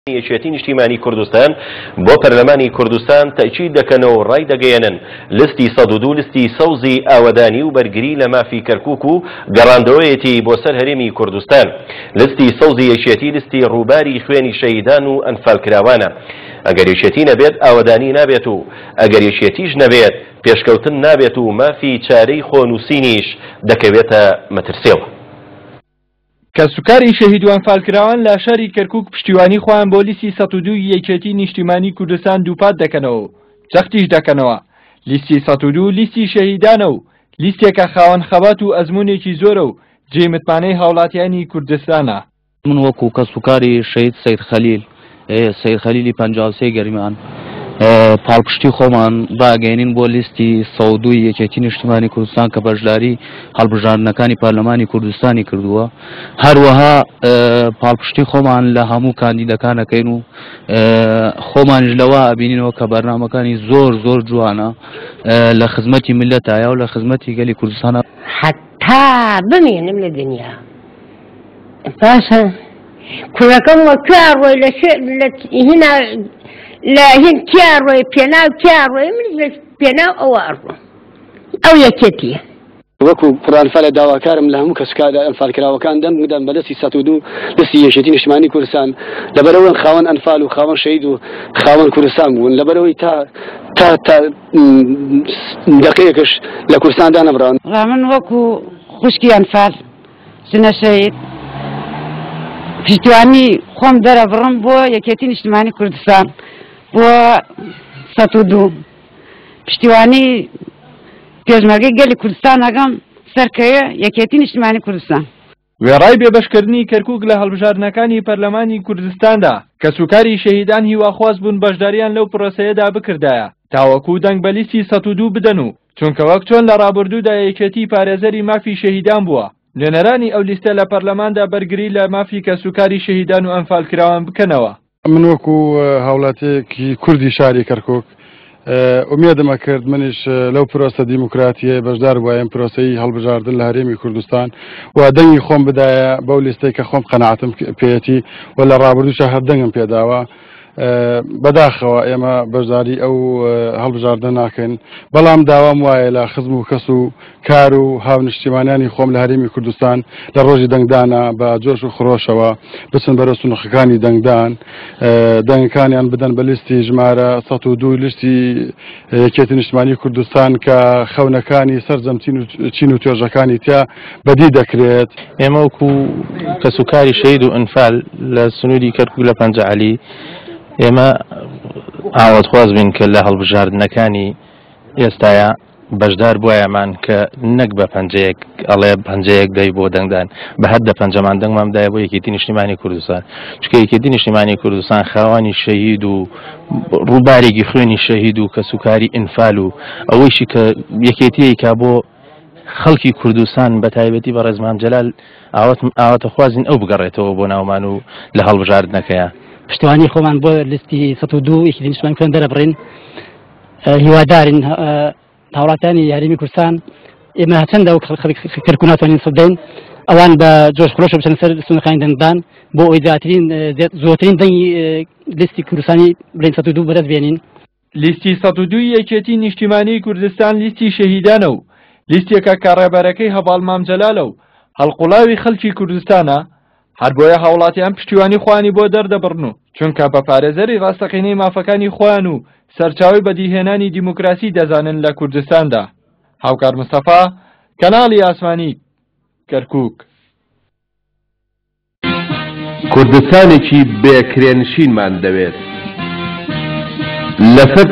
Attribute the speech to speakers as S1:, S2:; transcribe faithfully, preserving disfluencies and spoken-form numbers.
S1: یەکێتی نیشتیمانی کوردستان بۆ پەرلەمانی کوردستان تەئکید دەکەنەوە و ڕایدەگەیەنن لستی سەد و دوو لستی سەوزی ئاوەدانی و بەرگری لە مافی کەرکوک و گەڕاندەوەیەتی بۆ سەر هەرێمی کوردستان. لستی سەوزی یەکێتی لستی ڕووباری خوێنی شەهیدان و ئەنفالکراوانە. ئەگەر یەکێتی نەبێت ئاوەدانی نابێت و ئەگەر یەکێتیش نەبێت پێشکەوتن نابێت و مافی چارەی خۆنووسینیش دەکەوێتە مەترسیەوە.
S2: کەسوکاری شەهید و ئەنفالکراوان لە شاری کەرکوک پشتیوانی خۆیان بۆ لیستی سەد و دوو یەکێتی نیشتیمانی کوردستان دووپات دەکەنەوە و جەختیش دەکەنەوە لیستی سەد و دوو لیستی شەهیدانە و لیستێکە خاوەن خەبات و ئەزمونێکی زۆرە و جێی متمانەی هاوڵاتیانی کوردستانە.
S3: من وەکو کەسوکاری شەهید سەید خەلیل سەید خەلیلی پەنجا و سێ گەرمیان پاڵپشتی خۆمان ڕاگەیەنین بۆ لیستی سەد و دوو یەکێتی نیشتیمانی کوردستان کە بەشداری هەڵبژاردنەکانی پەرلەمانی کوردستانی کردووە. هەروەها پاڵپشتی خۆمان لە هەموو کاندیدەکانەکەین و خۆمانیش لەوە ئەبینینەوە کە بەرنامەکانی زۆر زۆر جوانە لە خزمەتی میللەتایە و لە خزمەتی گەلی کوردستانە.
S4: حتا بمێنم لە دنیا باشە کوڕەکەم وە کوێ ڕۆی لە هینا لە هین کیا ڕۆی پێناو کیا ڕۆی منیش لە پێناو ئەوە ئەڕۆم ئەو یەکێتیە.
S5: وەکو کوڕانفالە داواکارم لە هەموو کەسوکار ئەنفالکراوەکان دەنگ بدەن بە دەستی سەد و دوو دەستی یەکێتی نیشتمانی کوردستان، لەبەرەوەن خاوەن ئەنفال و خاوەن شەهید و خاوەن کوردستان بوون، لەبەرەوەی تا تا تا دقەیەکش لە کوردستان دانەبراون.
S6: من وەکو خوشکی ئەنفال ژنە شەهید پشتیوانی خۆم دەرەبڕم بۆ یەکێتی نیشتمانی کوردستان بۆ سەد و دوو پشتیوانی پێشمەرگەی گەلی کوردستان ئەگەم سەرکەوێ یەکێتی نیشتمانی کوردستان.
S2: وێڕای بێبەشکردنی کەرکوک لە هەڵبژاردنەکانی پەرلەمانی کوردستاندا کەسوکاری شەهیدان هیواخواز بوون بەشداریان لەو پرۆسەیەدا بکردایە تاوەکو دەنگ بە لیستی سەد و دوو بدەن و چونکە وەک چۆن لە ڕابردوودا یەکێتی پارێزەری مافی شەهیدان بووە نوێنەرانی ئەو لیستە لە پەرلەماندا بەرگری لە مافی کەسوکاری شەهیدان و ئەنفالکراوان بکەنەوە.
S7: من وەکو هاوڵاتیەکی کوردی شاری کەرکوک ئومێدم ئەکرد منیش لەو پرۆسە دیموکراتیە بەشدار بوایم پرۆسەی هەڵبژاردن لە هەرێمی کوردستان و دەنگی خۆم بدایە بەو لیستەی کە خۆم قەناعەتم پێیەتی و لە ڕابردووشە هەر دەنگم پێداوە. بەداخەوە ئێمە بەشداری ئەو هەڵبژاردنە ناکەین، بەڵام داوام وایە لە خزم و کەس و کار و هاونیشتیمانیانی خۆم لە هەرێمی کوردستان لە ڕۆژی دەنگدانە بە جۆش و خرۆشەوە بچن بەرەو سنووقەکانی دەنگدان، دەنگەکانیان بدەن بە لیستی ژمارە سەد و دوو لیستی یەکێتی نیشتمانی کوردستان کە خەونەکانی سەرجەم چین و توێژەکانی تیا بەدی دەکرێت.
S8: ئێمە وەکو کەسوکاری شەهید و ئەنفال لە سنووری کەرکوک لە پەنجە عەلی ئێمە ئاواتخواز بین کە لە هەڵبژاردنەکانی ئێستایا بەشدار بوامان کە نەک بە پەنجەیەک ئەڵێ پەنجەیەک دەی بۆ دەنگدان، بە هەر دە پەنجەمان دەنگمان بدایە بۆ یەکێتی نیشتیمانی کوردستان، چونکە یەکێتی نیشتیمانی کوردستان خاوەنی شەهید و ڕووبارێکی خوێنی شەهید و کەسوکاری ئینفال و ئەوەیشی کە یەکێتیەکە بۆ خەڵکی کوردستان بە تایبەتی بە ڕێزمان جەلال ئاواتەخوازین ئەو بگەڕێتەوە بۆ ناومان و لە هەڵبژاردنەکەیە.
S9: پشتیوانی خۆمان بۆ لیستی سەد و دوو یەکێتی نیشتمانی کوردستان دەرەبڕین. هیوادارین هاوڵاتیانی هەرێمی کوردستان ئێمە هەچەندە وەک کەرکوک ناتوانین سەد دەین، ئەوان بە جۆش خرۆشە بچنە سەر سنوورەکانی دەنگدان بۆ ئەوەی زیاترین زۆرترین دەنگی لیستی کوردستانی بڵێن سەد و دوو بەدەست بێنین.
S2: لیستی سەد و دوو یەکێتی نیشتیمانی کوردستان لیستی شەهیدانە و لیستێکە کە ڕێبەرەکەی هەڤاڵ مام جەلالە و هەڵقوڵاوی خەڵکی کوردستانە، هەر بۆیە هاوڵاتیان پشتیوانی خۆیانی بۆ دەردەبڕن و چونکە بە پارێزەری ڕاستەقینەی مافەکانی خۆیان و سەرچاوی بەدیهێنانی دیموکراسی دەزانن لە کوردستاندا. هاوکار مستەفا، کەناڵی ئاسمانی، کەرکوک.
S10: کوردستانێکی بێکرێنشینمان دەوێت لەسەر